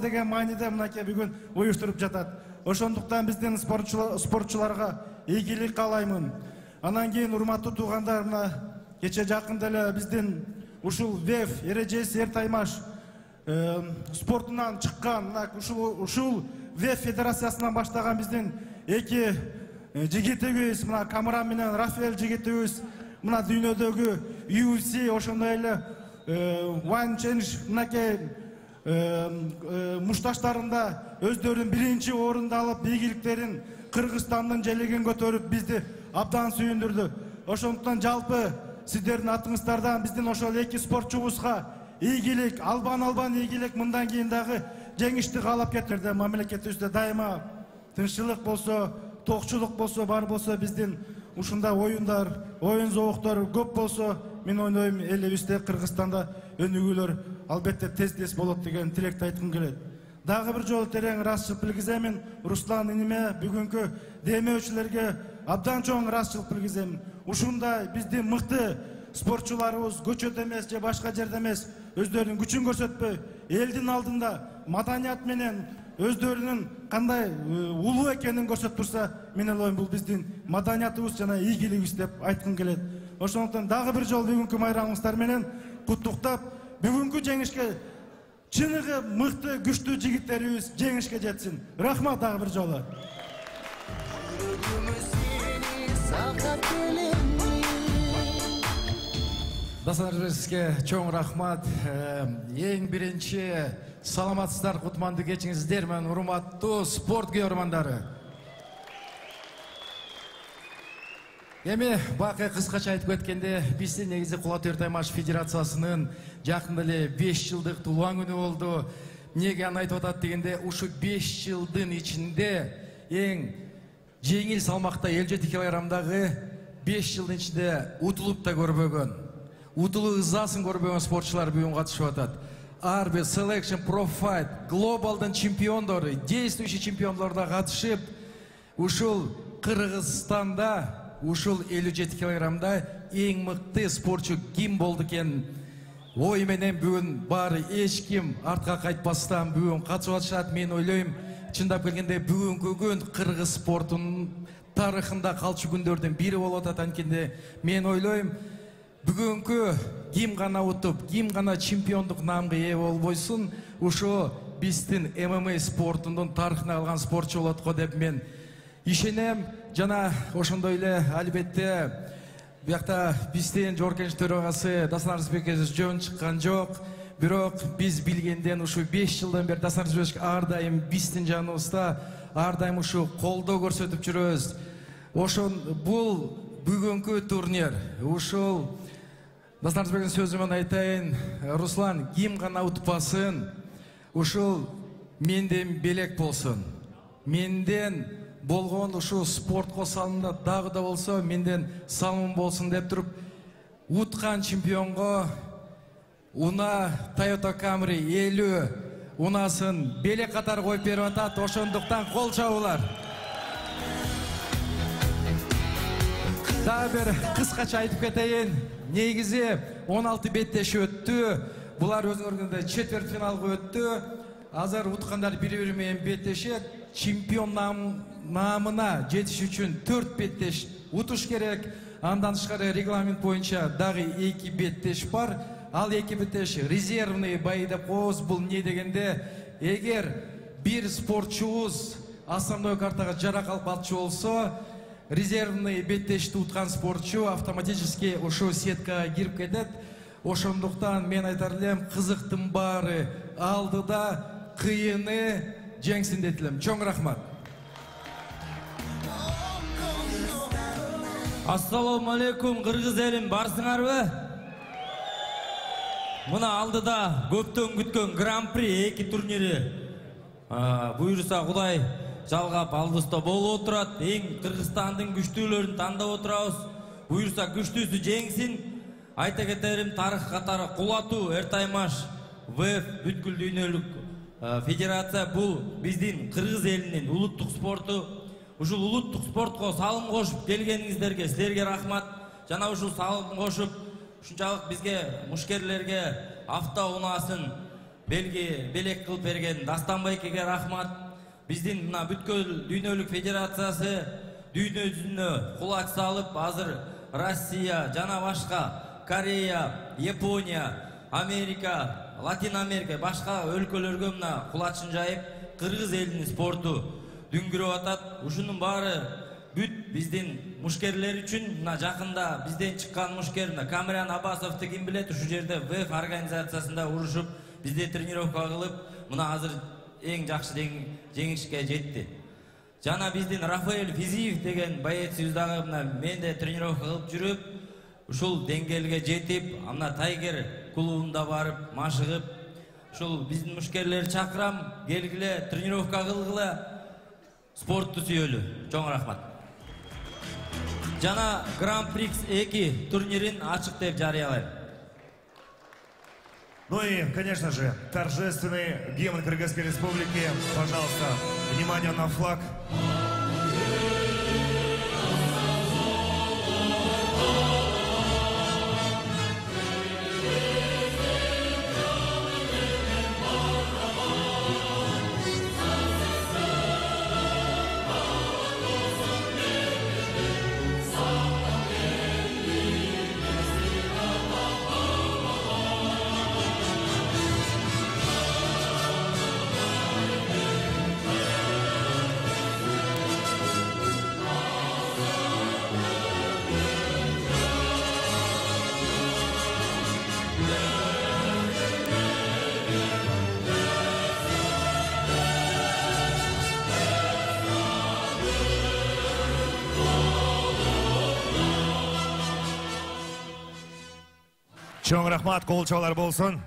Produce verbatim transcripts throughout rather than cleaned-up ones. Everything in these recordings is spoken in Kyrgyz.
деген мааниде мынакей бүгүн уюштуруп жатат. Ошондуктан биздин спортчуларга ийгилик каалаймын. Анан кийин урматтуу туугандар, мына кече жакында эле биздин ушул ВЭФ эрежеси эр таймаш спортунан чыккан, мына ушул ушул ВЭФ федерациясынан баштаган биздин эки жигитибиз, мына Камран менен Рафаэль жигитибиз, мына дүйнөдөгү ю эф си, ошондой эле One Change мынакей мушташтарында өздөрүн биринчи орунду алып, ийгиликтерин Кыргызстандын желегин көтөрүп, бизди абдан сүйүндүрдү. Ошондуктан жалпы сиздердин атыңыздардан биздин ошол эки спортчубузга ийгилик, албан-албан ийгилик, мындан кийин дагы жеңишти каалап кетерде, мамлекетибизде дайыма тынччылык болсо, токчулук болсо, бар болсо, биздин ушундай оюндар, оюн зооктору көп болсо, мен ойлойм, элибизде, Кыргызстанда өнүгүүлөр албетте тез-тез болот деген тилекти айткым келет. Дагы бир жолу терең ыраазычылык билгиземин. Руслан иниме, бүгүнкү демөөчүлөргө абдан чоң ыраазычылык билгиземин. Ушундай биздин мыкты спортчуларыбыз көчөдө эмес же башка жерде эмес, өздөрүнүн күчүн көрсөтпөй, элдин алдында маданият менен өздөрүнүн кандай улуу экенин көрсөтүп турса, мен ойлойм, бул биздин маданиятыбыз жана ийгилигибиз деп айткым келет. Ошондуктан дагы бир жолу бүгүнкү майрамыңыздар менен куттуктап, бүгүнкү жеңишке чыныгы мыкты, күчтүү жигиттерибиз жеңишке жетсин. Рахмат дагы бир жолу. Досторубузга чоң рахмат. Эң биринчи саламатсыздар, кутмандуу кечиңиздер менен урматтуу спорт көрөрмандары. Эми бакы кыскача айтып кеткенде, биздин негизи Кулат эр таймаш федерациясынын жакында эле беш жылдык туулган күнү болду. Эмнеге аны айтып атат дегенде, ушу беш жылдын ичинде эң жеңил салмакта элүү жети килограммдагы беш жылдын ичинде утулуп да көрбөгөн, утулуу ызасын көрбөгөн спортчулар бүгүн катышып атат. Ар бир Selection, Pro Fight, глобалдын чемпиондору, действующий чемпиондор да катышып, ушул Кыргызстанда ушул элүү жети килограммда эң мыкты спортчу ким болду экен ой менен бүгүн баары эч ким артка кайтпастан бүгүн катышып атышат. Мен ойлойм, чындап келгенде бүгүнкү күн кыргыз спортунун тарыхында калчу күндөрдүн бири болуп атат. Анткенде мен ойлойм, бүгүнкү ким гана утуп, ким гана чемпиондук наамга ээ болбойсун, ушу биздин эм эм а спортунун тарыхына калган спортчу болот го деп мен ишенем. Жана ошондой эле албетте биякта биздин Жогорку Кеңеш төрагасы Дастан Арзбекович жөн чыккан жок. Бирок биз билгенден ушу беш жылдан бери Дастан Арзбекович ар дайым биздин жаныбызда, ар дайым ушу колдоо көрсөтүп жүрөбүз. Ошон бул бүгүнкү турнир, ушул Дастан Арзбековичтин сөзү менен айтайын, Руслан, ким гана утпасын, ушул менден белек болсун. Менден болгон ушу спортко салымда дагы да болсо менден салым болсун деп туруп, уткан чемпионго уна Toyota Camry элүү унасын белек катары коюп берип атат. Ошондуктан кол чабуулар. Дагы бир кыскача айтып кетейин. Негизи он алты беттеш өттү. Булар өзүңөргөндөй четверть финалга өттү. Азыр уткандар бири-бири менен беттешет. Чемпион наамына жетиш үчүн төрт беттеш утуш керек. Андан тышкары регламент боюнча дагы эки беттеш бар. Ал эки беттеш резервный бай деп коебуз. Бул эмне дегенде, эгер бир спортчубуз основной картага жаракат алчу болсо, резервный беттешти уткан спортчу автоматически ошо сеткага кирип кетет. Ошондуктан мен айтар элем, кызыктын баары алдыда, кыйыны жеңсин деп элем. Чоң рахмат. Ассаламу алейкум, кыргыз элим, барсыңарбы? Мына алдыда көптөн күткөн гран-при эки турнири буйруса Кудай жалгап алдыбызда болуп отурат. Эң Кыргызстандын күчтүүлөрүн тандап отурабыз. Буйруса күчтүүсү жеңсин. Айта кетерим, тарых катары Кулатуу эр таймаш ВЭФ бүткүл дүйнөлүк федерация бул биздин кыргыз элинин улуттук спорту. Ушул улуттук спортко салым кошуп келгениңиздерге силерге рахмат. Жана ушул салым кошуп ушунчалык бизге мушкерлерге авто унаасын белги белек кылып берген Дастан байкеге рахмат. Биздин мына бүткүл дүйнөлүк федерациясы дүйнө жүзүнө кулач салып, азыр Россия жана башка Корея, Япония, Америка, Латин Америка, башка өлкөлөргө мына кулачын жайып, кыргыз элинин спорту дүңгүрөп атат. Ушунун баары бүт биздин мушкерлер үчүн. Мына жакында бизден чыккан мушкер Камырян Абасовду ким билет, ушу жерде ВЭФ организациясында урушуп, бизде тренировка кылып, мына азыр эң жакшы жеңишке жетти. Жана биздин Рафаэль Физиев деген боецибиз дагы мына менде тренировка кылып жүрүп, ушул деңгээлге жетип, ана Тайгер клубунда барып, машыгып, ушул биздин мушкерлерди чакырам, келгиле, тренировка кылгыла, спортту сүйөлү. Чоң рахмат. Жана Гран-прикс эки турнирин ачык деп жарыялайм. Ну и, конечно же, торжественный гимн Кыргызской Республики. Пожалуйста, внимание на флаг. Чоң рахмат, кол чабуулар болсун.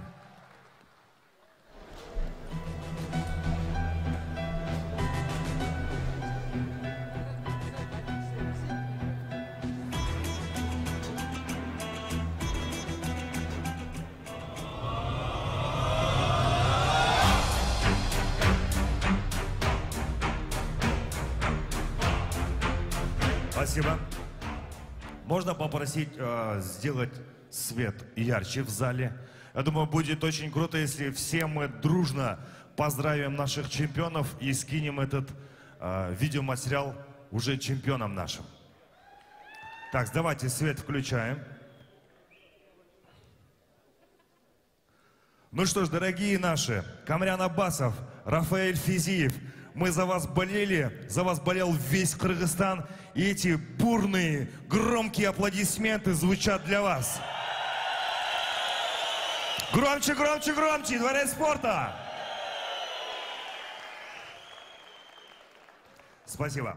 Спасибо. Можно попросить э, сделать свет ярче в зале. Я думаю, будет очень круто, если все мы дружно поздравим наших чемпионов и скинем этот э, видеоматериал уже чемпионам нашим. Так, давайте свет включаем. Ну что ж, дорогие наши, Камырян Абасов, Рафаэль Физиев, мы за вас болели, за вас болел весь Кыргызстан, и эти бурные, громкие аплодисменты звучат для вас. Громче, громче, громче, Дворец спорта! Спасибо.